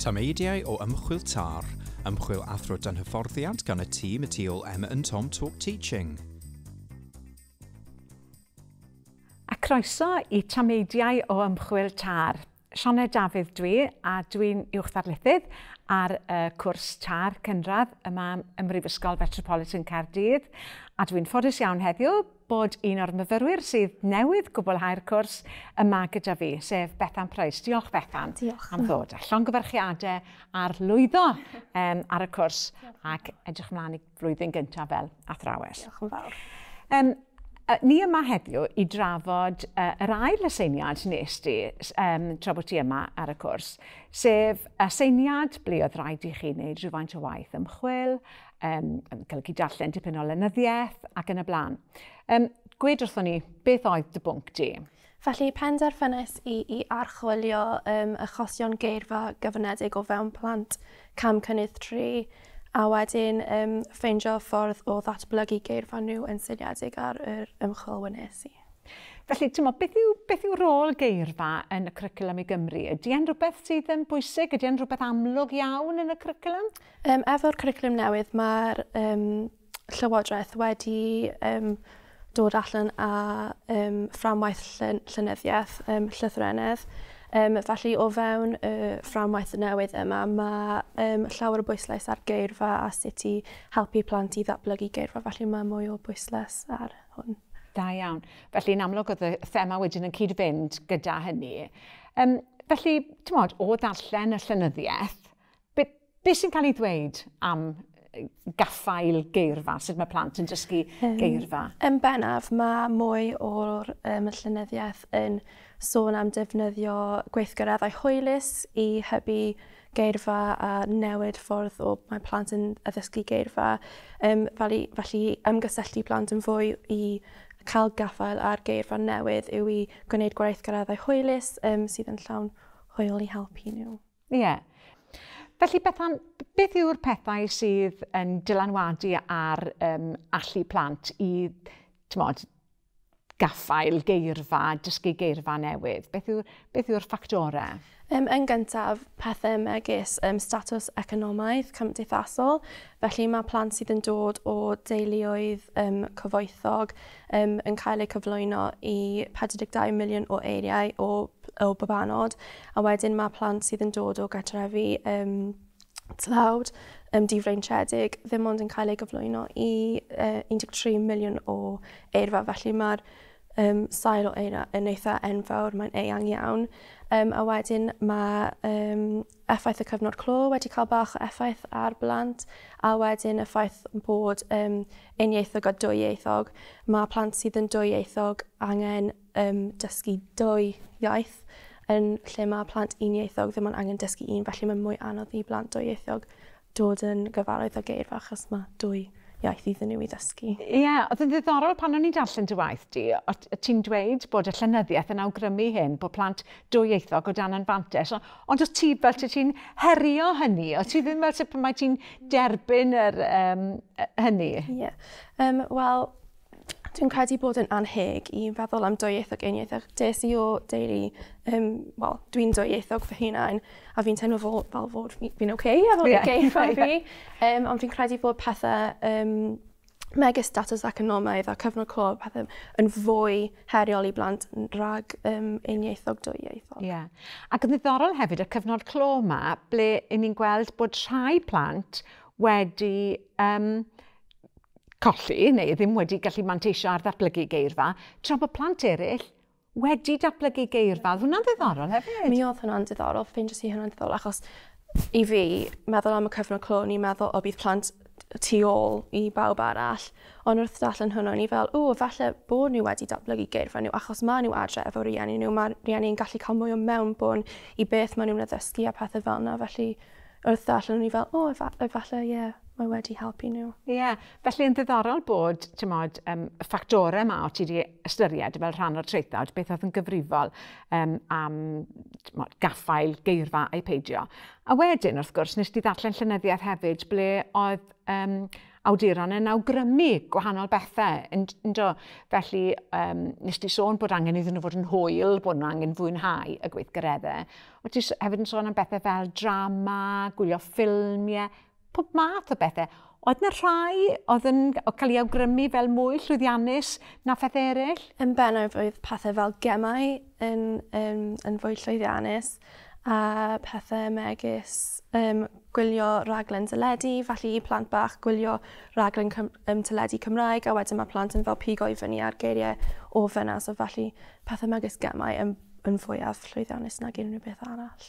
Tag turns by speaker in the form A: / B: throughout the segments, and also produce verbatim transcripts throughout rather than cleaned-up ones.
A: Tameidiau o Ymchwil TAR, ymchwil athro dan hyfforddiant gan y tîm y tu ôl Emma and Tom Talk Teaching.
B: A croeso i Tameidiau o Ymchwil TAR. Sioned Dafydd dwi, a dwi'n uwch ddarlithydd ar y cwrs TAR cynradd yma ym Mhrifysgol Metropolitan Caerdydd. A dwi'n ffodus iawn heddiw bod un o'r myfyrwyr sydd newydd gwblhau'r cwrs yma gyda fi, sef Bethan Price. Diolch, Bethan.
C: Diolch.
B: Am ddod. A llongyfarchiadau ar lwyddo um, ar y cwrs. Diolch. Ac edrych ymlaen i flwyddyn gyntaf fel athrawes.
C: Diolch yn fawr.
B: Um, ni yma heddiw i drafod uh, yr ail aseiniad nes di um, tra bod ti yma ar y cwrs, sef aseiniad ble oedd rhaid i chi wneud rhywfaint o waith ymchwil, um, yn golygu darllen dipyn o lenyddiaeth ac yn y blaen. Um, gwed wrthon ni, beth oedd dy bwnc di?
C: Felly penderfynais i i archwilio um, achosion geirfa gyfyngedig o fewn plant cam cynnydd tri, a wedyn um, ffeindio ffordd o ddatblygu geirfa nhw yn seiliedig ar yr ymchwil wnes i.
B: Felly, ti'n meddwl, beth yw, beth yw rôl geirfa yn y cwricwlwm i Gymru? Ydy e'n rhywbeth sydd yn bwysig? Ydy e'n rhywbeth amlwg iawn yn y cwricwlwm?
C: Um, efo'r cwricwlwm newydd, mae'r um, Llywodraeth wedi um, dod allan â um, fframwaith llenyddiaeth, um, llythrennedd. Um, felly o fewn y fframwaith newydd yma, mae um, llawer o bwyslais ar geirfa a sut i helpu plant i ddatblygu geirfa, felly mae mwy o bwyslais ar hwn.
B: Da iawn. Felly yn amlwg oedd y thema wedyn yn cyd-fynd gyda hynny. Um, felly, ti'n modd, o ddarllen y llenyddiaeth, be, be sy'n cael ei ddweud am gaffael geirfa, sut mae plant yn dysgu
C: um,
B: geirfa?
C: Yn bennaf, mae mwy o'r um, llenyddiaeth yn sôn am defnyddio gweithgareddau hwylus i hybu geirfa a newid ffordd o mae plant yn addysgu geirfa. Um, felly, felly ymgysylltu plant yn fwy i cael gafael ar geirfa newydd yw i gwneud gweithgareddau hwylus um, sydd yn llawn hwyl i helpu nhw.
B: Ie. Yeah. Felly, Bethan, beth yw'r pethau sydd yn dylanwadu ar um, allu plant i, t'mod, gaffael geirfa, dysgu geirfa newydd? Beth yw'r, beth yw'r ffactorau?
C: Um, yn gyntaf, pethau megis um, statws economaidd cymdeithasol. Felly mae plant sydd yn dod o deuluoedd um, cyfoethog um, yn cael eu cyflwyno i pedwar deg dau miliwn o eiriau o, o babanod. A wedyn mae plant sydd yn dod o gartrefi um, tlawd, um, difreintiedig, ddim ond yn cael ei gyflwyno i uh, un deg tri miliwn o eirfa. Felly mae'r um, sail o eira yn eitha enfawr, mae'n eang iawn. Um, a wedyn mae um, effaith y cyfnod clo wedi cael bach o effaith ar blant, a wedyn y ffaith bod um, unieithog a dwyieithog. Mae plant sydd yn dwyieithog angen um, dysgu dwy iaith, yn lle mae plant unieithog ddim ond angen dysgu un, felly mae'n mwy anodd i blant dwyieithog dod yn gyfarwydd â geirfa achos mae dwy iaith iddyn nhw i ddysgu.
B: Ie, yeah, oedd yn ddiddorol pan o'n i'n darllen dy waith di, o ti'n dweud bod y llenyddiaeth yn awgrymu hyn, bod plant dwyieithog o dan anfantais, ond os ti fel ti'n herio hynny, o ti ddim fel sut mae ti'n derbyn yr, um, hynny?
C: Ie, yeah. um, wel, dwi'n credu bod yn anheg i feddwl am dwyieithog unieithog. Des i o deulu, um, wel, dwi'n dwyieithog fy hunain, a fi'n teimlo fel, fel fod fi'n oce okay, efo yeah. geirfa fi. Um, ond fi'n credu bod pethau um, megis statws economaidd a cyfnod clo, pethau yn fwy heriol i blant rhag um, unieithog dwyieithog.
B: Ie. Yeah. Ac yn ddiddorol hefyd, y cyfnod clo yma, ble ni'n gweld bod rhai plant wedi um, colli, neu ddim wedi gallu manteisio ar ddatblygu geirfa, tra bod plant eraill wedi datblygu geirfa. Oedd hwnna'n ddiddorol hefyd?
C: Mi oedd hwnna'n diddorol, ffeindiais i hwnna'n diddorol, achos i fi, meddwl am y cyfnod clo, ni'n meddwl o bydd plant tu ôl i bawb arall, ond wrth darllen hwnna, o'n i fel, o, falle bod nhw wedi datblygu geirfa nhw, achos maen nhw adre efo rieni nhw, mae rieni'n gallu cael mwy o mewnbwn i beth maen nhw'n addysgu a pethau fel yna, felly wrth darllen o'n i fel, o, efallai, ie, yeah, mae wedi helpu nhw.
B: Ie, yeah. Felly yn ddiddorol bod, ti'n modd, um, y ffactorau yma o ti wedi ystyried fel rhan o'r traethawd, beth oedd yn gyfrifol um, am mod, gaffael geirfa a'i peidio. A wedyn, wrth gwrs, nes di ddarllen llenyddiaeth hefyd, ble oedd um, awduron yn awgrymu gwahanol bethau. Yndo? Felly, um, nes ti sôn bod angen iddyn nhw fod yn hwyl, bod nhw angen fwynhau y gweithgareddau. O ti hefyd yn sôn am bethau fel drama, gwylio ffilmiau, pob math o bethau. Oedd yna rhai oedd yn cael ei awgrymu fel mwy llwyddiannus na phethau eraill?
C: Yn bennaf oedd pethau fel gemau yn, yn, yn fwy llwyddiannus a pethau megis um, gwylio raglen teledu, felly i plant bach gwylio raglen cym um, teledu Cymraeg, a wedyn mae plant yn fel pigo i fyny ar geiriau o fyna, so felly pethau megis gemau yn, yn fwyaf llwyddiannus nag unrhyw beth arall.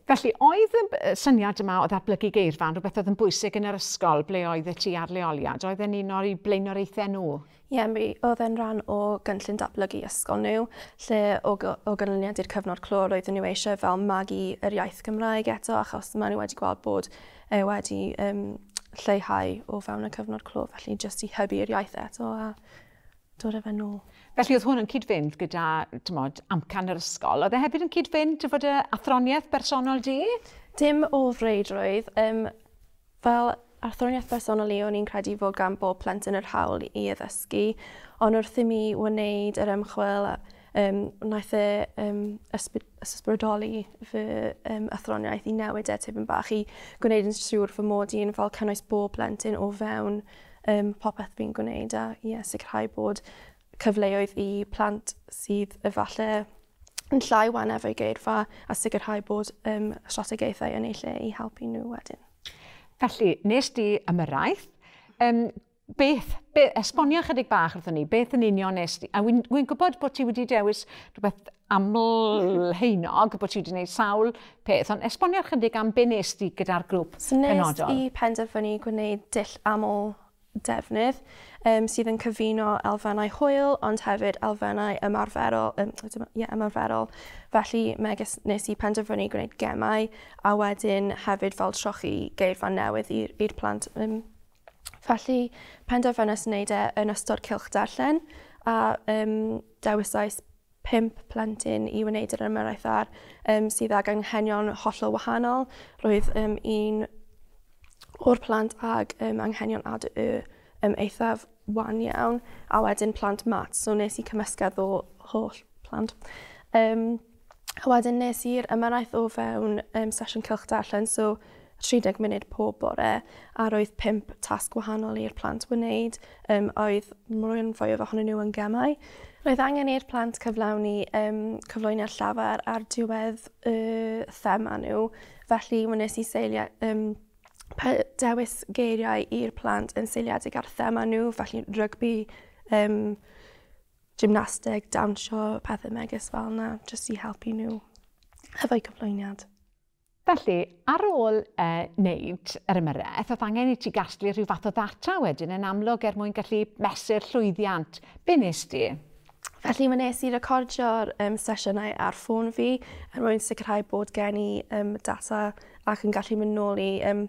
B: Felly, oedd y syniad yma o ddatblygu geirfa yn rhywbeth oedd yn bwysig yn yr ysgol ble oedd ti ar leoliad? Oedd e'n un o'r blaenoriaethau nhw?
C: Ie, yeah, mi oedd e'n rhan o gynllun datblygu ysgol nhw, lle o, o ganlyniad i'r cyfnod clo roedden nhw eisiau fel magu yr iaith Gymraeg eto, achos maen nhw wedi gweld bod e wedi um, lleihau o fewn y cyfnod clo, felly jyst i hybu'r iaith eto a dod â fe nôl.
B: Felly oedd hwn yn cyd-fynd gyda, tymod, amcan yr ysgol. Oedd e hefyd yn cyd-fynd fod y athroniaeth bersonol di?
C: Dim o reidrwydd. Um, fel athroniaeth bersonol i, o'n i'n credu fod gan bob plentyn yr hawl i addysgu, ond wrth i mi wneud yr ymchwil, um, wnaeth e um, ysbrydoli fy um, athroniaeth i newid e tipyn bach i gwneud yn siŵr fy mod i'n fel cynnwys bob plentyn o fewn um, popeth fi'n gwneud a yeah, sicrhau bod cyfleoedd i plant sydd efallai yn llai wan efo'i geirfa a sicrhau bod um, strategaethau yn eu lle i helpu nhw wedyn.
B: Felly, nes di ymyrraeth, um, beth, be, esbonio chydig bach wrthon ni, beth yn union nes di? A wy'n wy gwybod bod ti wedi dewis rhywbeth aml heinog, bod ti wedi gwneud sawl peth, ond esbonio chydig am be nes di gyda'r grŵp
C: so, penodol. Nes i penderfynu gwneud dull aml defnydd um, sydd yn cyfuno elfennau hwyl ond hefyd elfennau ymarferol, um, yeah, ymarferol. Felly megis nes i penderfynu gwneud gemau a wedyn hefyd fel trochi geirfa newydd i'r plant. Um, felly penderfynais wneud e yn ystod cylch darllen a um, dewisais pump plentyn i wneud yr ymyrraeth ar um, sydd ag anghenion hollol wahanol. Roedd um, un o'r plant ag um, anghenion A D Y um, eithaf wan iawn, a wedyn plant mat, so nes i cymysgedd o holl plant. Um, a wedyn nes i'r ymyrraeth o fewn um, sesiwn cylch darllen, so tri deg munud pob bore, a roedd pump tasg wahanol i'r plant wneud, um, oedd rhan fwyaf ohonyn nhw yn gemau. Roedd angen i'r plant cyflawni um, cyflwyniad llafar ar diwedd y thema nhw, felly wnes i seilio um, dewis geiriau i'r plant yn seiliedig ar thema nhw, felly rygbi, um, gymnasteg, dawnsio, pethau megis fel yna, jyst i helpu nhw efo'u cyflwyniad.
B: Felly, ar ôl uh, wneud yr ymyrraeth, oedd angen i ti gasglu rhyw fath o ddata wedyn yn amlwg er mwyn gallu mesur llwyddiant. Be nes di?
C: Felly, wnes i recordio'r um, sesiynau ar ffôn fi er mwyn sicrhau bod gen i um, data ac yn gallu mynd nôl i um,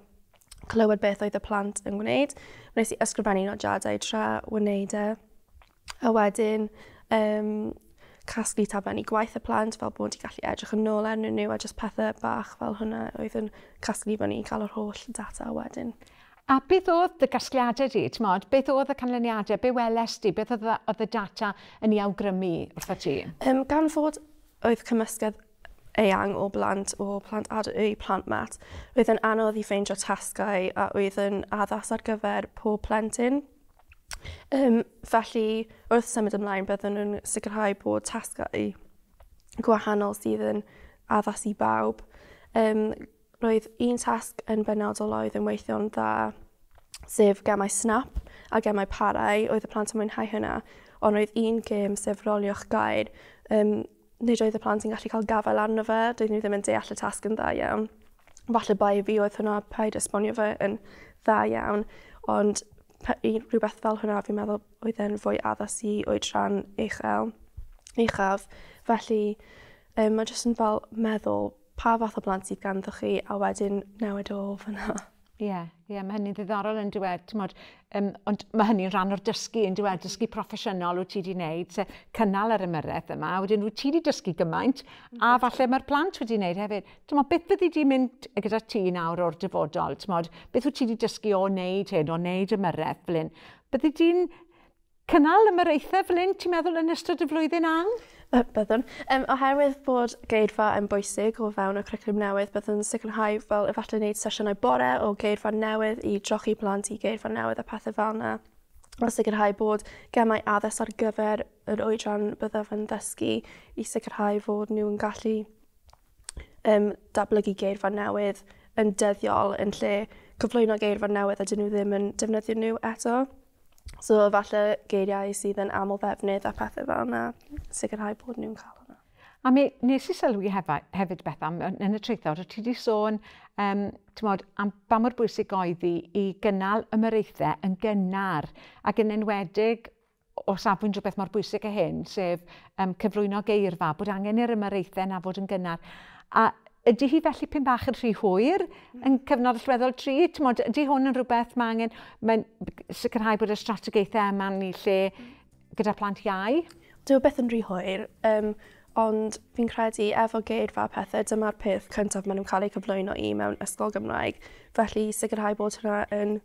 C: clywed beth oedd y plant yn gwneud. Wnes i ysgrifennu nodiadau tra wneud e. A wedyn um, casglu taflenni gwaith y plant fel bod i gallu edrych yn ôl arnyn nhw a jyst pethau bach fel hwnna oedd yn casglu fyny i cael yr holl data wedyn.
B: A beth oedd dy gasgliadau di? T'mod, beth oedd y canlyniadau? Be weles di? Beth oedd, oedd y data yn ei awgrymu wrtho ti?
C: Um, gan fod oedd cymysgedd eang o blant, o plant A D Y, plant mat, oedd yn anodd i ffeindio tasgau a oedd yn addas ar gyfer pob plentyn. Um, felly, wrth symud ymlaen, byddwn nhw'n sicrhau bod tasgau gwahanol sydd yn addas i bawb. Um, roedd un tasg yn benodol oedd yn weithio'n dda, sef gemau snap a gemau parau, oedd y plant yn mwynhau hynna, ond roedd un gêm, sef roliwch gair, um, nid oedd y plant yn gallu cael gafael arno fe, doedd nhw ddim yn deall y tasg yn dda iawn. Falle bai fi oedd hwnna, paid esbonio fe yn dda iawn, ond rhywbeth fel hwnna fi'n meddwl oedd e'n fwy addas i oedran uchel, uchaf. Felly um, mae jyst yn fel meddwl pa fath o blant sydd ganddo chi a wedyn newid o fyna.
B: Ie, yeah, yeah, mae hynny'n ddiddorol yn dweud, t'mod, um, ond mae hynny'n rhan o'r dysgu yn dweud, dysgu proffesiynol wyt ti wedi wneud, sef cynnal yr ymyrraeth yma, a wedyn wyt ti wedi dysgu gymaint, a falle mae'r plant wedi wneud hefyd. T'mod, beth fyddi di mynd gyda ti nawr o'r dyfodol? T'mod, beth wyt ti wedi dysgu o wneud hyn, o wneud ymyrraeth fel hyn? Byddi di'n cynnal ymyraethau fel hyn, ti'n meddwl, yn ystod y flwyddyn awn?
C: Byddwn. Um, oherwydd bod geirfa yn bwysig o fewn y cwricwlwm newydd, byddwn sicrhau fel efallai wneud sesiynau bore o geirfa newydd i drochi plant i geirfa newydd a pethau fel yna. A sicrhau bod gemau addysg ar gyfer yr oedran byddaf yn ddysgu i sicrhau fod nhw'n gallu um, datblygu geirfa newydd yn dyddiol yn lle cyflwyno geirfa newydd a dyn nhw ddim yn defnyddio nhw eto. So falle geiriau sydd yn aml ddefnydd a pethau fel yna, sicrhau bod nhw'n cael hwnna.
B: A mi nes i sylwi hefa, hefyd Bethan, yn y traethawd, o ti wedi sôn um, t'mod, am ba mor bwysig oedd hi i gynnal ymyraethau yn gynnar, ac yn enwedig o safbwynt rhywbeth mor bwysig â hyn, sef um, cyflwyno geirfa, bod angen i'r ymyraethau na fod yn gynnar. A ydy hi felly pyn bach yn rhy hwyr yn cyfnod allweddol tri? T'mod, ydy hwn yn rhywbeth mae angen mae'n sicrhau bod y strategaethau yma'n ei lle gyda plant iau?
C: Dyw e byth yn rhy hwyr, um, ond fi'n credu efo geirfa a pethau, dyma'r peth cyntaf maen nhw'n cael eu cyflwyno i mewn ysgol Gymraeg. Felly sicrhau bod hwnna yn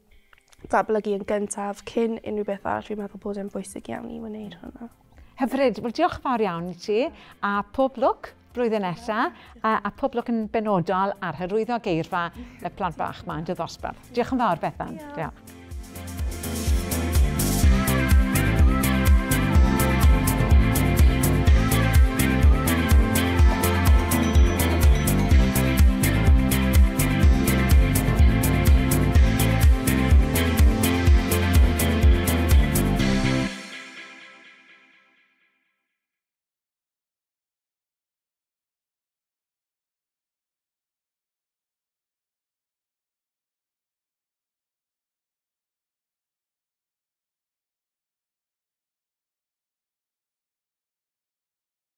C: datblygu yn gyntaf cyn unrhyw beth arall, fi'n meddwl bod e'n bwysig iawn i wneud hwnna.
B: Hyfryd. Wel, diolch yn fawr iawn i ti, a pob lwc blwyddyn nesaf, a, a pob lwc yn benodol ar hyrwyddo geirfa y plant bach yma yn dy ddosbarth. Diolch yn fawr, Bethan. Diolch.